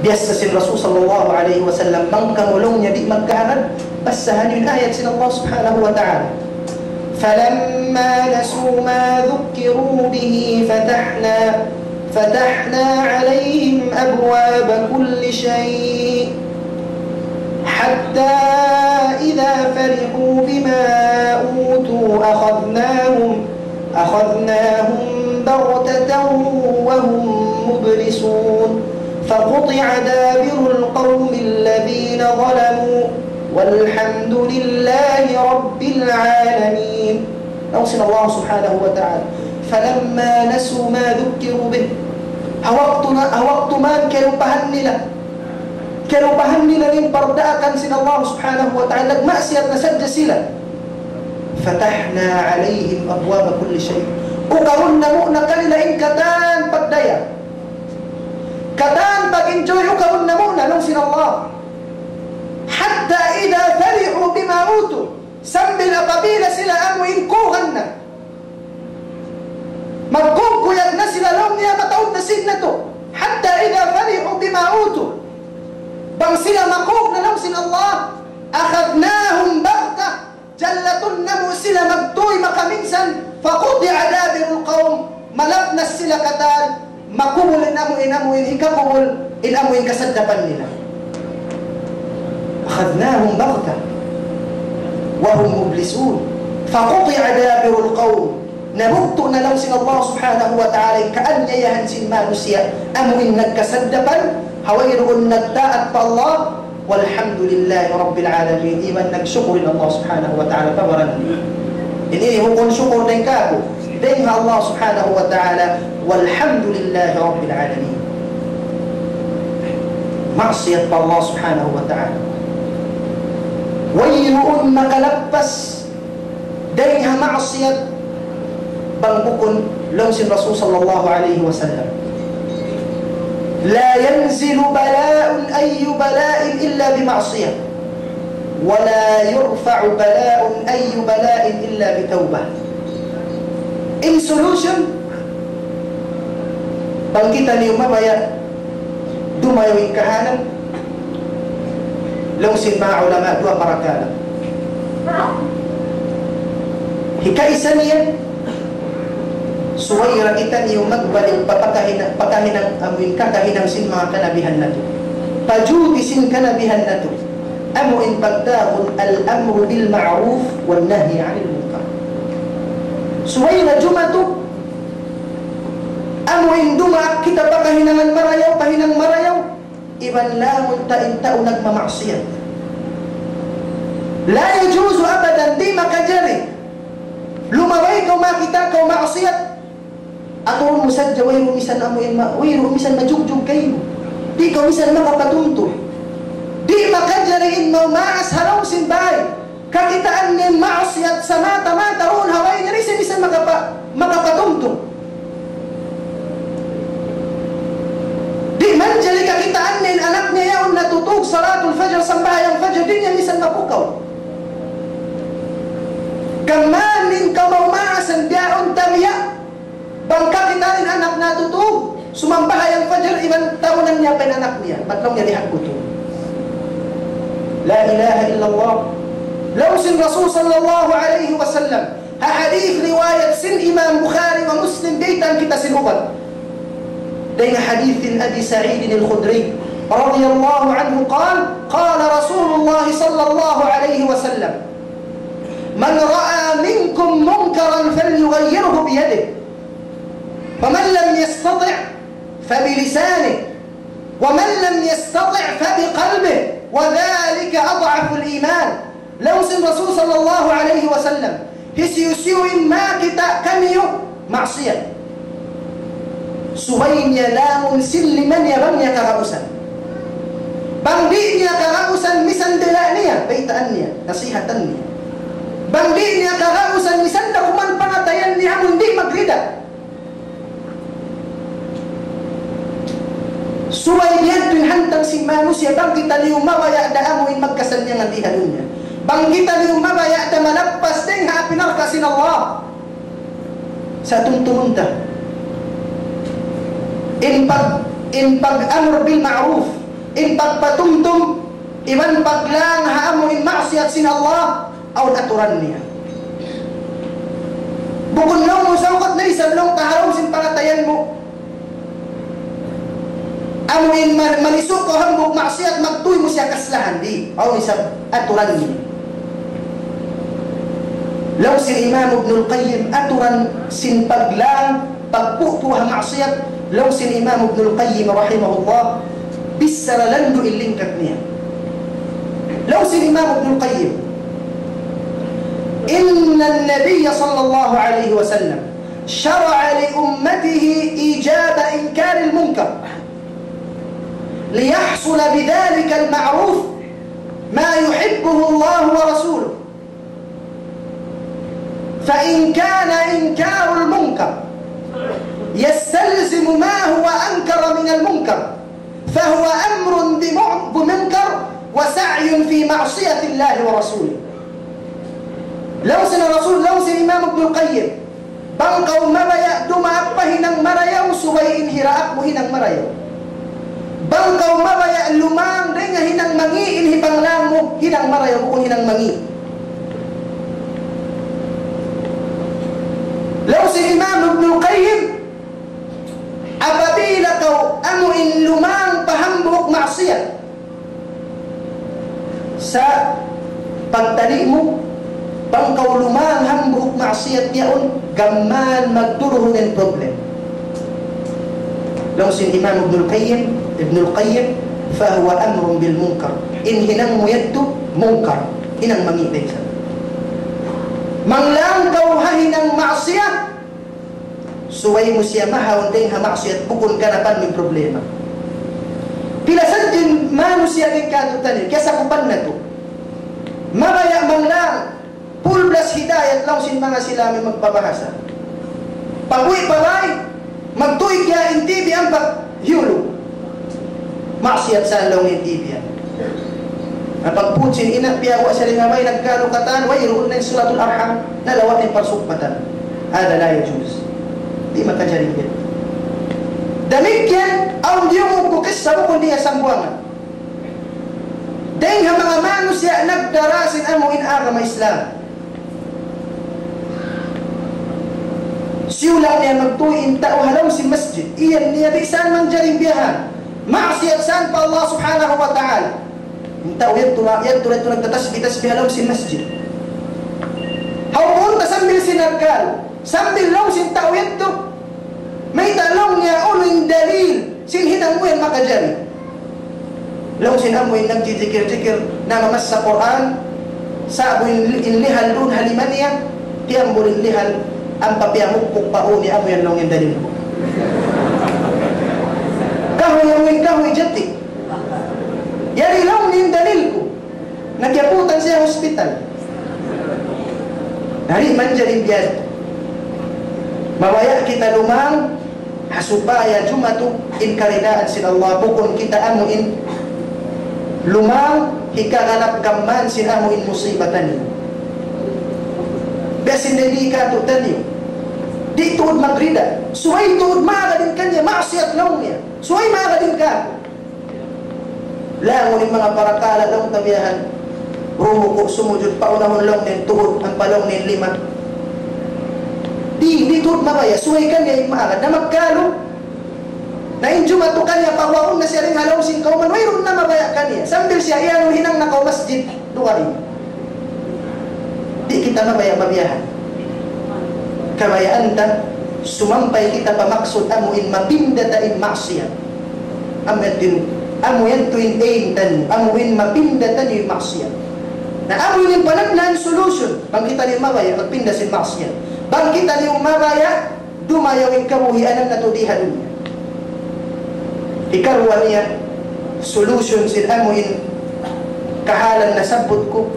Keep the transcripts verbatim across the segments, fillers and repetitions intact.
Biyassa sin Rasul sallallahu alayhi wasallam, bang kamu laung niya di' magkaharap, basahan niyu in ayat sin Allah subhanahu wa ta'ala. فلما نسوا ما ذكروا به فتحنا، فتحنا عليهم أبواب كل شيء حتى إذا فرحوا بما أوتوا أخذناهم أخذناهم بغتة وهم مبلسون. فقطع دابر القوم الذين ظلموا والحمد لله رب العالمين. Laung sin Allah subhanahu wa ta'ala, فلما نسوا ما ذكروا به. Ha waktu na, ha waktu man kiyalupahan nila, kiyalupahan nila in pardaakan sin Allah subhanahu wa ta'ala, nagmaksiyat na sadja sila. فتحنا عليهم أبواب كل شيء. Ukarun namu' na kanila in katan pagdaya, katan pag-enjoy, ukarun namu' na, laung sin Allah. حتى إذا فرحوا بما أوتوا. Sambil apabila sila amu in kuhan na, magkukuyag na sila laung niya mataud na sin natu'. حتى إذا فرحوا بما أوتوا. Bang sila makug na laung sin Allah, أخذناهم بغتة. Jallatun namu' sila magtuy makaminsan, فقطع دابر القوم. Malapnas sila katan, makubul in amu in, amu in hikakubul, in amu in kasaddapan nila. أخذناهم بغتة وهم مبلسون. فقطع دابر القوم. Nabugtu' na laung sin Allah subhanahu wa ta'ala in kaaniyayahan sin manusiya', amu in nagkasaddapan, ha wayruun nagtaat pa Allah, والحمد لله رب العالمين. Iban nagsukur in Allah subhanahu wa ta'ala pa baran niya. Ini bukun sukur dayn kāku', dayn ha Allah subhanahu wa ta'ala. والحمد لله رب العالمين. Maksiyat pa Allah subhanahu wa ta'ala. Wayruun makalappas dayn ha maksiyat bang bukun laung sin Rasul sallallahu alayhi wasallam. لا ينزل بلاء أي بلاء إلا بمعصية، ولا يرفع بلاء أي بلاء إلا بتوبة. In solution, bang kitaniyu mabaya' dumayaw in kahalan, laung sin manga ulama, duwa parakala'. Hikaisa niya, subay da kitaniyu magbalik pa pakahinang, pakahinang amu in kakahinang sin manga kanabihan natu'. Pajuti sin kanabihan natu'. Amu in pagtawagun الأمر بالمعروف والنهي عن المنكر. Subay da jumatu, amu in dumaak kita pakahinangan marayaw, pahinang marayaw, iban langun ta in tau nagmamaksiyat. لا يجوز أبدا, di' makajari. Lumabay kaw makakita' kaw maksiyat. Aturun mu sadja, wayruun misan amu in ma-, wayruun misan majugjug kaymu. Di' kaw misan makapatumtum. Di' makajari in mamaas ha lawm sin bay. Kakitaan niya in maksiyat samata-mata duun ha bay niya, di' siya misan makapa-, makapatumtum. Di' manjari kakitaan niya in anak niya yaun natutug salatul fajr, sambahayang fajr, di' niya misan mapukaw. Gam mayan in kamaasan biya' yaun tabiya'. Bang kakitaan in anak natutug, sumambahayang fajr, iban tawagun niya pa in anak niya, bat laung niya di' ha kutu. لا إله إلا الله. Laung sin Rasul sallallahu alayhi wasallam, ha hadith riwayat sin Imam Bukhari wa Muslim, baytaan kita sin upat. Dayn ha hadith sin Abi Sa'id al-Khudri radiyallahu anhu قال: قال رسول الله صلى الله عليه وسلم: من رأى منكم منكرا فليغيره بيده، فمن لم يستطع فبلسانه، ومن لم يستطع فبقلبه، وذلك أضعف الإيمان. Laung sin Rasul sallallahu alayhi wasallam, hisiyu-siyu in makakita' kaniyu maksiyat, subay niya langun sin lima niya bang niya kagausan. Bang di' niya kagausan, misan dila' niya, baytaan niya, nasihatan niya. Bang di' niya kagausan, misan da kuman pangatayan niya amun di' magrida. Subay biya' ha yan in hantang sin manusiya', bang kitaniyu mabaya' da amu in magkasannyangan di ha dunya. Bang kitaniyu mabaya' da malappas dayn ha api narka' sin Allah. Sa' tumtumun ta. In pag-, in pag-amr bil ma'ruf, In pagpatumtum iban paglang ha amu in maksiyat sin Allah, awn aturan niya. Bukun laung mu sawkat na isab laung ta ha lawm sin pangatayan mu. Amu in man-, malisuk kaw hambuuk maksiyat, magtuy mu siya kaslahan, di'. Awn isab aturan niya. Laung sin Imam Ibnul Qayyim, aturan sin paglang, pagpupu ha maksiyat, laung sin Imam Ibnul Qayyim rahimahullah, bichara landu' in lingkat niya. Laung sin Imam Ibnul Qayyim, إن النبي صلى الله عليه وسلم شرع لأمته إيجاب إنكار المنكر ليحصل بذلك المعروف ما يحبه الله ورسوله، فإن كان إنكار المنكر يستلزم ما هو أنكر من المنكر، فهو أمر بمع-، بمنكر وسعي في معصية الله ورسوله. Laung sin Rasul, laung sin Imam Ibnul Qayyim, bang kaw mabaya' dumaak pa hinang marayaw, subay in hiraak mu hinang marayaw. Bang kaw mabaya' lumang dayn ha hinang mangi', in hipanglang mu hinang marayaw, bukun hinang mangi'. Laung sin Imam Ibnul Qayyim, apabila kaw amu in lumang pa hambuuk maksiyat, sa' pagtali' mu, bang kaw lumang hambuuk maksiyat yaun, gam mayan magduruhun in problem. Laung sin Imam Ibnul Qayyim, Ibnul Qayyim, فهو أمر بالمنكر. In hinang mu yadtu, munkar. Hinang mangi' da isab. Manglang kaw ha hinang maksiyat, subay mu siya mahaun dayn ha maksiyat, bukun kanapan mu in problema. Pila sadja in manusiya' dayn kātu'niyu, kiyasakupan natu'. Mabaya' manglang, full blast hidayat laung sin manga sila amu in magbabahasa. Pag-uwi' pa bāy, magtuy kiya in T V ampa hiyulug. Maksiyat sa laung in T V yan. Na pagpud sin ina', piyawa' siya dayn ha bāy, nagkalu katan, wayruun na in silatul arham, nalawa' na in parsugpatan. هذا لا يجوز. Di' makajari yan. Damikkiyan, awn diyungug ku kissa bukun di' sambungan. Dayn ha manga manusiya' nagdara sin amu in agama Islam. Siyulang niya magtuy in tau ha lawm sin masjid. Iyan niya di' saan manjari biyahan. Maksiyat saan pa Allah Subhanahu wa Ta'ala. In tau yadtu, yadtu, yadtu nagtatasbih-tasbih ha lawm sin masjid. Hawnu ta sambil sin nagkalu, sambil laung sin tau yadtu. Mayta' laung niya unu in dalil sin hinang mu yan makajari. Laung sin amu in nagjijikir-jikir, namamassa Qur'an, sa'bu in, in lihal duun ha lima niya, tiyambul in lihal, ampa piyamukpuk pa ū niya, amu yan laung in dalil ku. Kahuy, amu in kahuy jati. Yari laung in dalil ku. Na kiyaputan siya hospital. Di' manjari biya' yadtu. Mabaya' kita lumang, ha supaya jumatu in karidaan sin Allah, bukun kita amu in lumang, hikaganap gam mayan sin amu in musiba taniyu. Biya' sin Nabi kātu'niyu. Di' tuud magrida. Subay tuud maagad in kaniya, maksiyat laung niya. Subay maagad in kātu'. Langun in manga parakala' laung ta biyahan. Rumuku', sumujud, paunahun laung niya in tuhud, ampa laung niya in lima. Di', di' tuud mabaya', subay kaniya in maagad. Na magkalu, na in jumatu kaniya, paguwaun na siya dayn ha lawm sin kawman, wayruun na mabaya' kaniya. Sambil siya, iyanun hinang na kaw masjid, dugaing. Di' kita mabaya' mabiyahan. Kabayaan ta, sumampay kita pa maksud amu in mapinda ta in maksiyat. Amu yan tuud, amu yan tuud in aim taniyu, amu in mapinda taniyu in maksiyat. Na amu in panagnaan solution, bang kitaniyu mabaya' magpinda sin maksiyat. Bang kitaniyu mabaya' dumayaw in kabuhianan natu' di ha dunya. Hikaruwa niya, solution sin amu in kahalan nasabbut ku,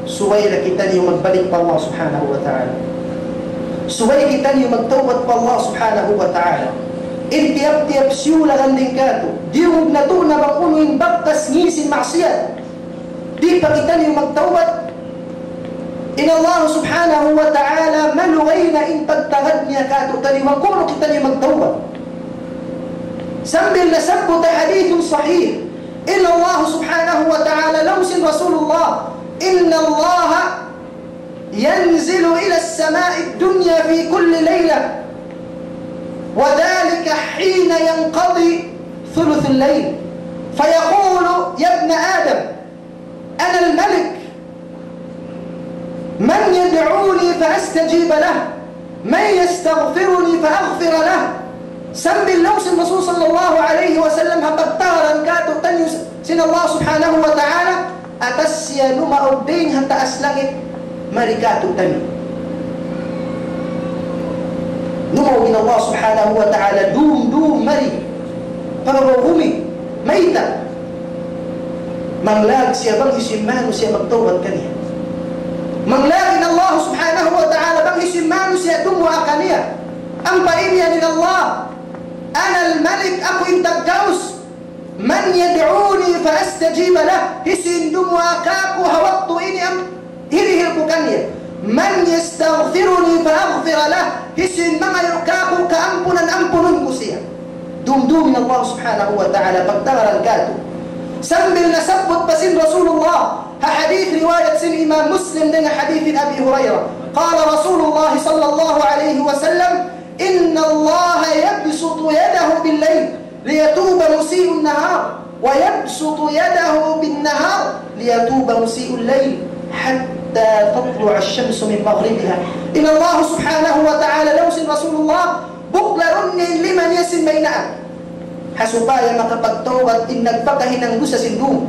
subay da kitaniyu magbalik pa Allah Subhanahu wa Ta'ala. Subay kitaniyu magtawbat pa Allah Subhanahu wa Ta'ala. In tiyap-tiyap siyulagan dayn kātu', diyungug natu' na bang unu in bakas ngī' sin maksiyat. Di' pa kitaniyu magtawbat, in Allah Subhanahu wa Ta'ala malugay na in pagtagad niya kātu'niyu bang kunu' kitaniyu magtawbat. Sambil nasabbut ha hadith sahih, إن الله سبحانه وتعالى، laung sin Rasulullah, إن الله ينزل إلى السماء الدنيا في كل ليلة، وذلك حين ينقضي ثلث الليل، فيقول: يا ابن آدم، أنا الملك، من يدعوني فأستجيب له، من يستغفرني فأغفر له. Sambil laung sin Rasul sallallahu alayhi wasallam ha pagtagaran kātu'niyu sin Allah subhanahu wa ta'ala, atas siya numaug dayn ha taas langit mari kātu'niyu. Numaug in Allah subhanahu wa ta'ala dum-dum mari pa babaw bumi. Mayta'? Manglag siya bang hisiyu in manusiya' magtawbat kaniya. Manglag in Allah subhanahu wa ta'ala bang hisiyu in manusiya' dumuwaa kaniya. Ampa imiyan in Allah, أنا الملك, aku in taggaus. من يدعوني فأستجيب له. Hisiyu in dumuwaa kāku' ha waktu ini, am hirihil ku kaniya. من يستغفرني فأغفر له. Hisiyu in mangayu' kāku' kaampunan, ampunun ku siya. Dum-dum in Allah subhanahu wa ta'ala pagtagaran kātu'. Sambil nasabbut pa sin Rasulullah ha hadith riwayat sin Imam Muslim dayn ha hadith Abi Hurairah. قال رسول الله صلى الله عليه وسلم: إن الله يبسط يده بالليل ليتوب مسيء النهار، ويبسط يده بالنهار ليتوب مسيء الليل حتى تطلع الشمس من مغربها. In Allah subhanahu wa ta'ala, laung sin Rasulullah, buklarun niya in lima niya sin baynaan, ha supaya makapagtawbat in nagpakahinang dusa sin dum.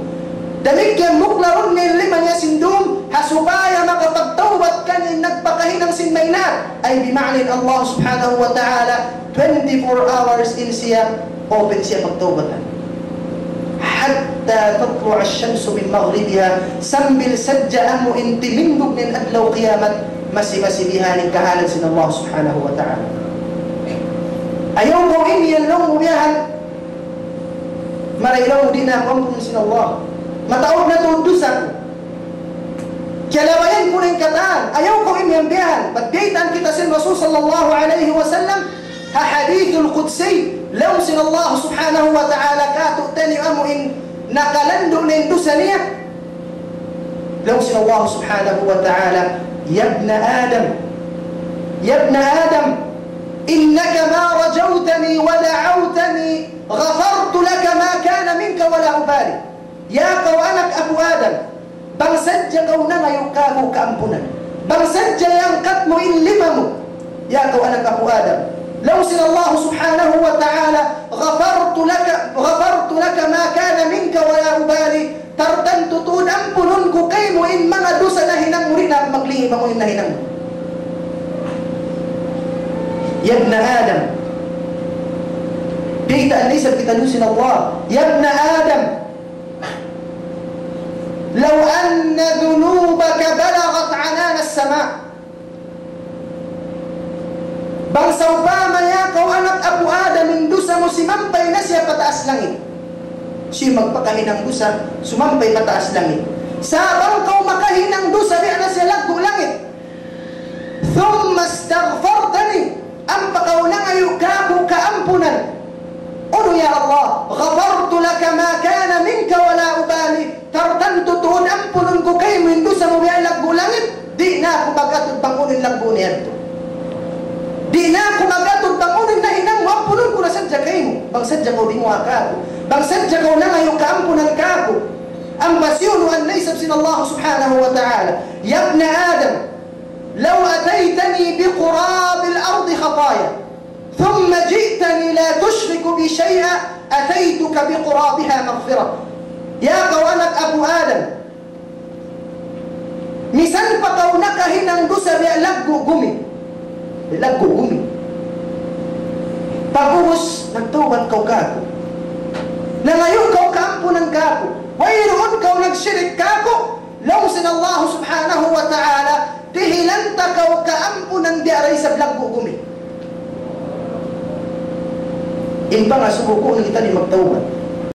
Damikkiyan buklarun niya in lima niya sin dum, ha supaya makapagtawbat kaniya in nagpakahinang sin baynaan. Ay, bima'na in Allah subhanahu wa ta'ala, twenty-four hours in siya, open siya pagtawbatan. حتى تطلع الشمس من مغربها, sambil sadja amu in timindug na in adlaw kiyamat, masi-masi bihan in kahalan sin Allah subhanahu wa ta'ala. Ayaw kaw imiyan laung mu bihan, maray laung mu di' na aku ampunun sin Allah. Mataud na tuud dusa ku. Kiyalabayan ku na in katan. Ayaw kaw imiyan bihan. Bat biyaytaan kita sin Rasul sallallahu alayhi wasallam ha hadithul qudsi. Laung sin Allah subhanahu wa ta'ala kātu'niyu amu in nakalandu' na in dusa niya. Laung sin Allah subhanahu wa ta'ala: يا ابن آدم، يا ابن آدم، إنك ما رجوتني ودعوتني غفرت لك ما كان منك ولا أبالي. Ya kaw anak apu' Adam, bang sadja kaw nangayu' kāku' kaampunan, bang sadja iyangkat mu in lima mu, ya kaw anak apu' Adam, laung sin Allah subhanahu wa ta'ala, غفرت لك، غفرت لك ما كان منك ولا أبالي. Tartantu tuud ampunun ku kaymu in manga dusa nahinang mu, di' na aku maglingi' bang unu in nahinang mu. يا ابن آدم. Kita' na isab kita duun sin Allah. يا ابن آدم، لو أن ذنوبك بلغت عنان السماء. Bang sawpama ya kaw anak apu' Adam in dusa mu simampay na siya pataas langit. Siya magpakahinang dusa, sumampay pataas langit. Sa' bang kaw makahinang dusa, biya' na siya laggu' langit. ثم استغفرتني, ampa kaw nangayu' kāku' kaampunan. Unu ya Allah, غفرت لك ما كان منك ولا أبالي. Tartantu tuud ampunun ku kaymu in dusa mu biya' laggu' langit. Di' na aku mag-atud bang unu in laggu' niya yadtu. Di' na aku mag-atud bang unu in nahinang mu, ampunun ku na sadja kaymu. Bang sadja kaw dimuwaa kāku'. Bang sadja kaw nangayu' kaampunan kāku'. Ampa siyunuan na isab sin Allah subhanahu wa ta'ala. يا ابن آدم، لو أتيتني بقراب الأرض خطايا ثم جئتني لا تشرك بي شيئا أتيتك بقرابها مغفرة. Ya kaw anak apu' Adam, misan pa kaw nakahinang dusa biya' laggu' gumi. Biya' laggu' gumi. Pag'ubus, nagtawbat kaw kāku'. Nangayu' kaw kaampunan kāku'. Wayruun kaw nagshirik kāku'. Laung sin Allah subhanahu wa ta'ala, dihilan ta kaw kaampunan biya' da isab laggu' gumi. In pangasubu ku, unu kita di' magtawbat.